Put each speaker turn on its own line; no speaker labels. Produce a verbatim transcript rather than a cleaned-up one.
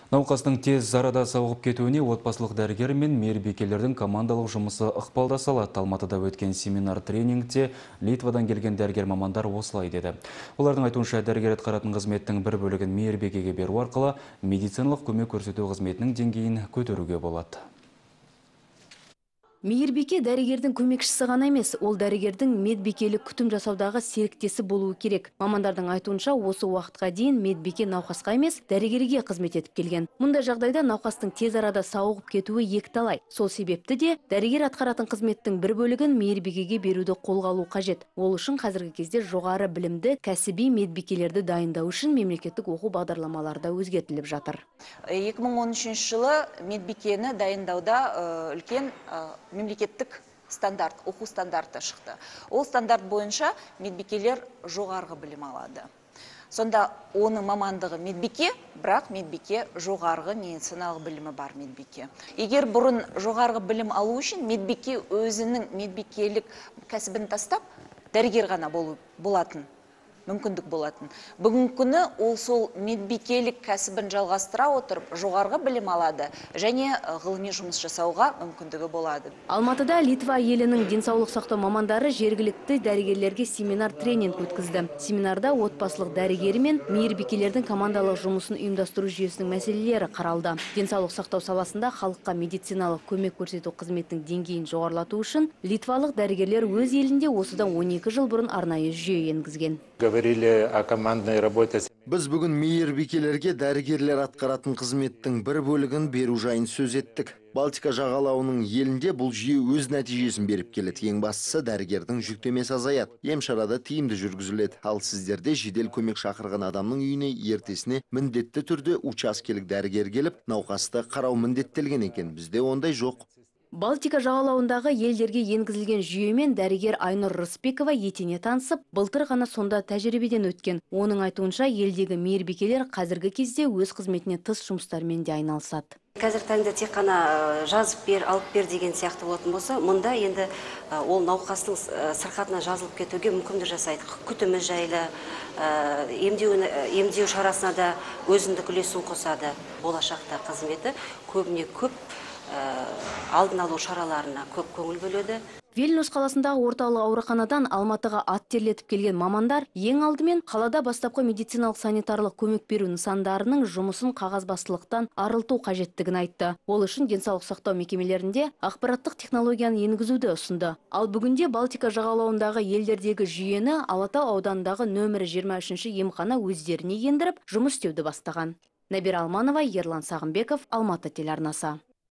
Науқастың тез арада сауығып кетуіне отбасылық дәрігер мен мейірбикелердің командалық жұмысы ықпалда салады. Алматыда өткен семинар тренингте Литвадан келген дәрігер мамандар осылай деді. Олардың айтуынша, дәрігер атқаратын қызметтің бір бөлігін мейірбикеге беру арқылы медициналық көмек көрсету қызметінің деңгейін көтеруге болады.
Мейірбике дәрігердің көмекшісі ғана емес, ол дәрігердің медбикелік күтім жасаудағы серіктесі болуы керек. Мамандардың айтуынша, осы уақытқа дейін медбике науқасқа емес, дәрігерге қызмет етіп келген. Мұндай жағдайда науқастың тез арада сауығып кетуі екіталай. Сол себепті де дәрігер атқаратын қызметтің бір бөлігін мейірбикеге беруді қолға алу қажет. Ол үшін қазіргі кезде жоғары білімді кәсіби медбикелерді дайындау үшін мемлекеттік оқу бағдарламалары да өзгертіліп жатыр.
екі мың он үшінші жылы медбикені дайындауда үлкен мемлекеттік стандарт, оқу стандарты шықты. Ол стандарт бойынша медбикелер жоғарғы білім алады. Сонда оның мамандығы медбике, бірақ медбике жоғарғы медициналық білімі бар медбике. Егер бұрын жоғарғы білім алу үшін медбике өзінің медбикелік кәсібін тастап, дәрігер ғана болатын. мүмкіндік болатын. Бүгінгі күні ол сол медбикелік кәсібін жалғастыра отырып, жоғарғы білім алады және ғылыми жұмыс жасауға мүмкіндігі болады.
Алматыда Литва елінің денсаулық сақтау мамандары жергілікті дәрігерлерге семинар тренинг өткізді. Семинарда отбасылық дәрігері мен мейірбикелердің командалық жұмысын ұйымдастыру жүйесінің мәселелері қаралды. Денсаулық сақтау саласында халыққа медициналық көмек көрсету қызметінің деңгейін жоғарылату үшін литвалық дәрігерлер өз елінде осыдан он екі жыл бұрын арнайы жүйе енгізген.
Біз бүгін мейірбикелерге дәрігерлер атқаратын қызметтің бір бөлігін беру жайын сөз еттік. Балтика жағалауының елінде бұл жүйе өз нәтижесін беріп келеді. Ең бастысы дәрігердің жүктемесі азаяды. Емшарада тиімді жүргізіледі. Ал сіздерде жедел көмек шақырған адамның үйіне ертесіне міндетті түрде учаскелік дәрігер келіп, науқасты қарау міндеттелген екен. Бізде ондай жоқ.
Балтика жағалауындағы елдерге енгізілген жүйемен дәрігер Айнұр Рысбекова етене танысып, былтыр ғана сонда тәжірибеден өткен. Оның айтуынша, елдегі мейірбикелер қазіргі кезде өз қызметіне тыс жұмыстармен де айналысады.
Қазір таңда тек қана жазып бер, алып бер деген сияқты болатын болса, мұнда енді ол науқастың сырқатына жазылып кетуге мүмкіндік жасайды. Күтімі жайлы, емдеу шарасына да өзіндік үлесін қосады. Болашақта қызметі көбіне көп алдын алу шараларына көп көңіл бөледі.
Вильнюс қаласындағы орталық ауруханадан Алматыға ат терлетіп келген мамандар ең алдымен қалада бастапқы медициналық санитарлық көмек беру нысандарының жұмысын қағазбастылықтан арылту қажеттігін айтты. Ол үшін денсаулық сақтау мекемелерінде ақпараттық технологияны енгізуді ұсынды. Ал бүгінде Балтика жағалауындағы елдердегі жүйені Алатау ауданындағы нөмірі жиырма үшінші емхана өздеріне ендіріп, жұмыс істеуді бастаған. Нәбира Алманова, Ерлан Сағымбеков, Алматы телеарнасы.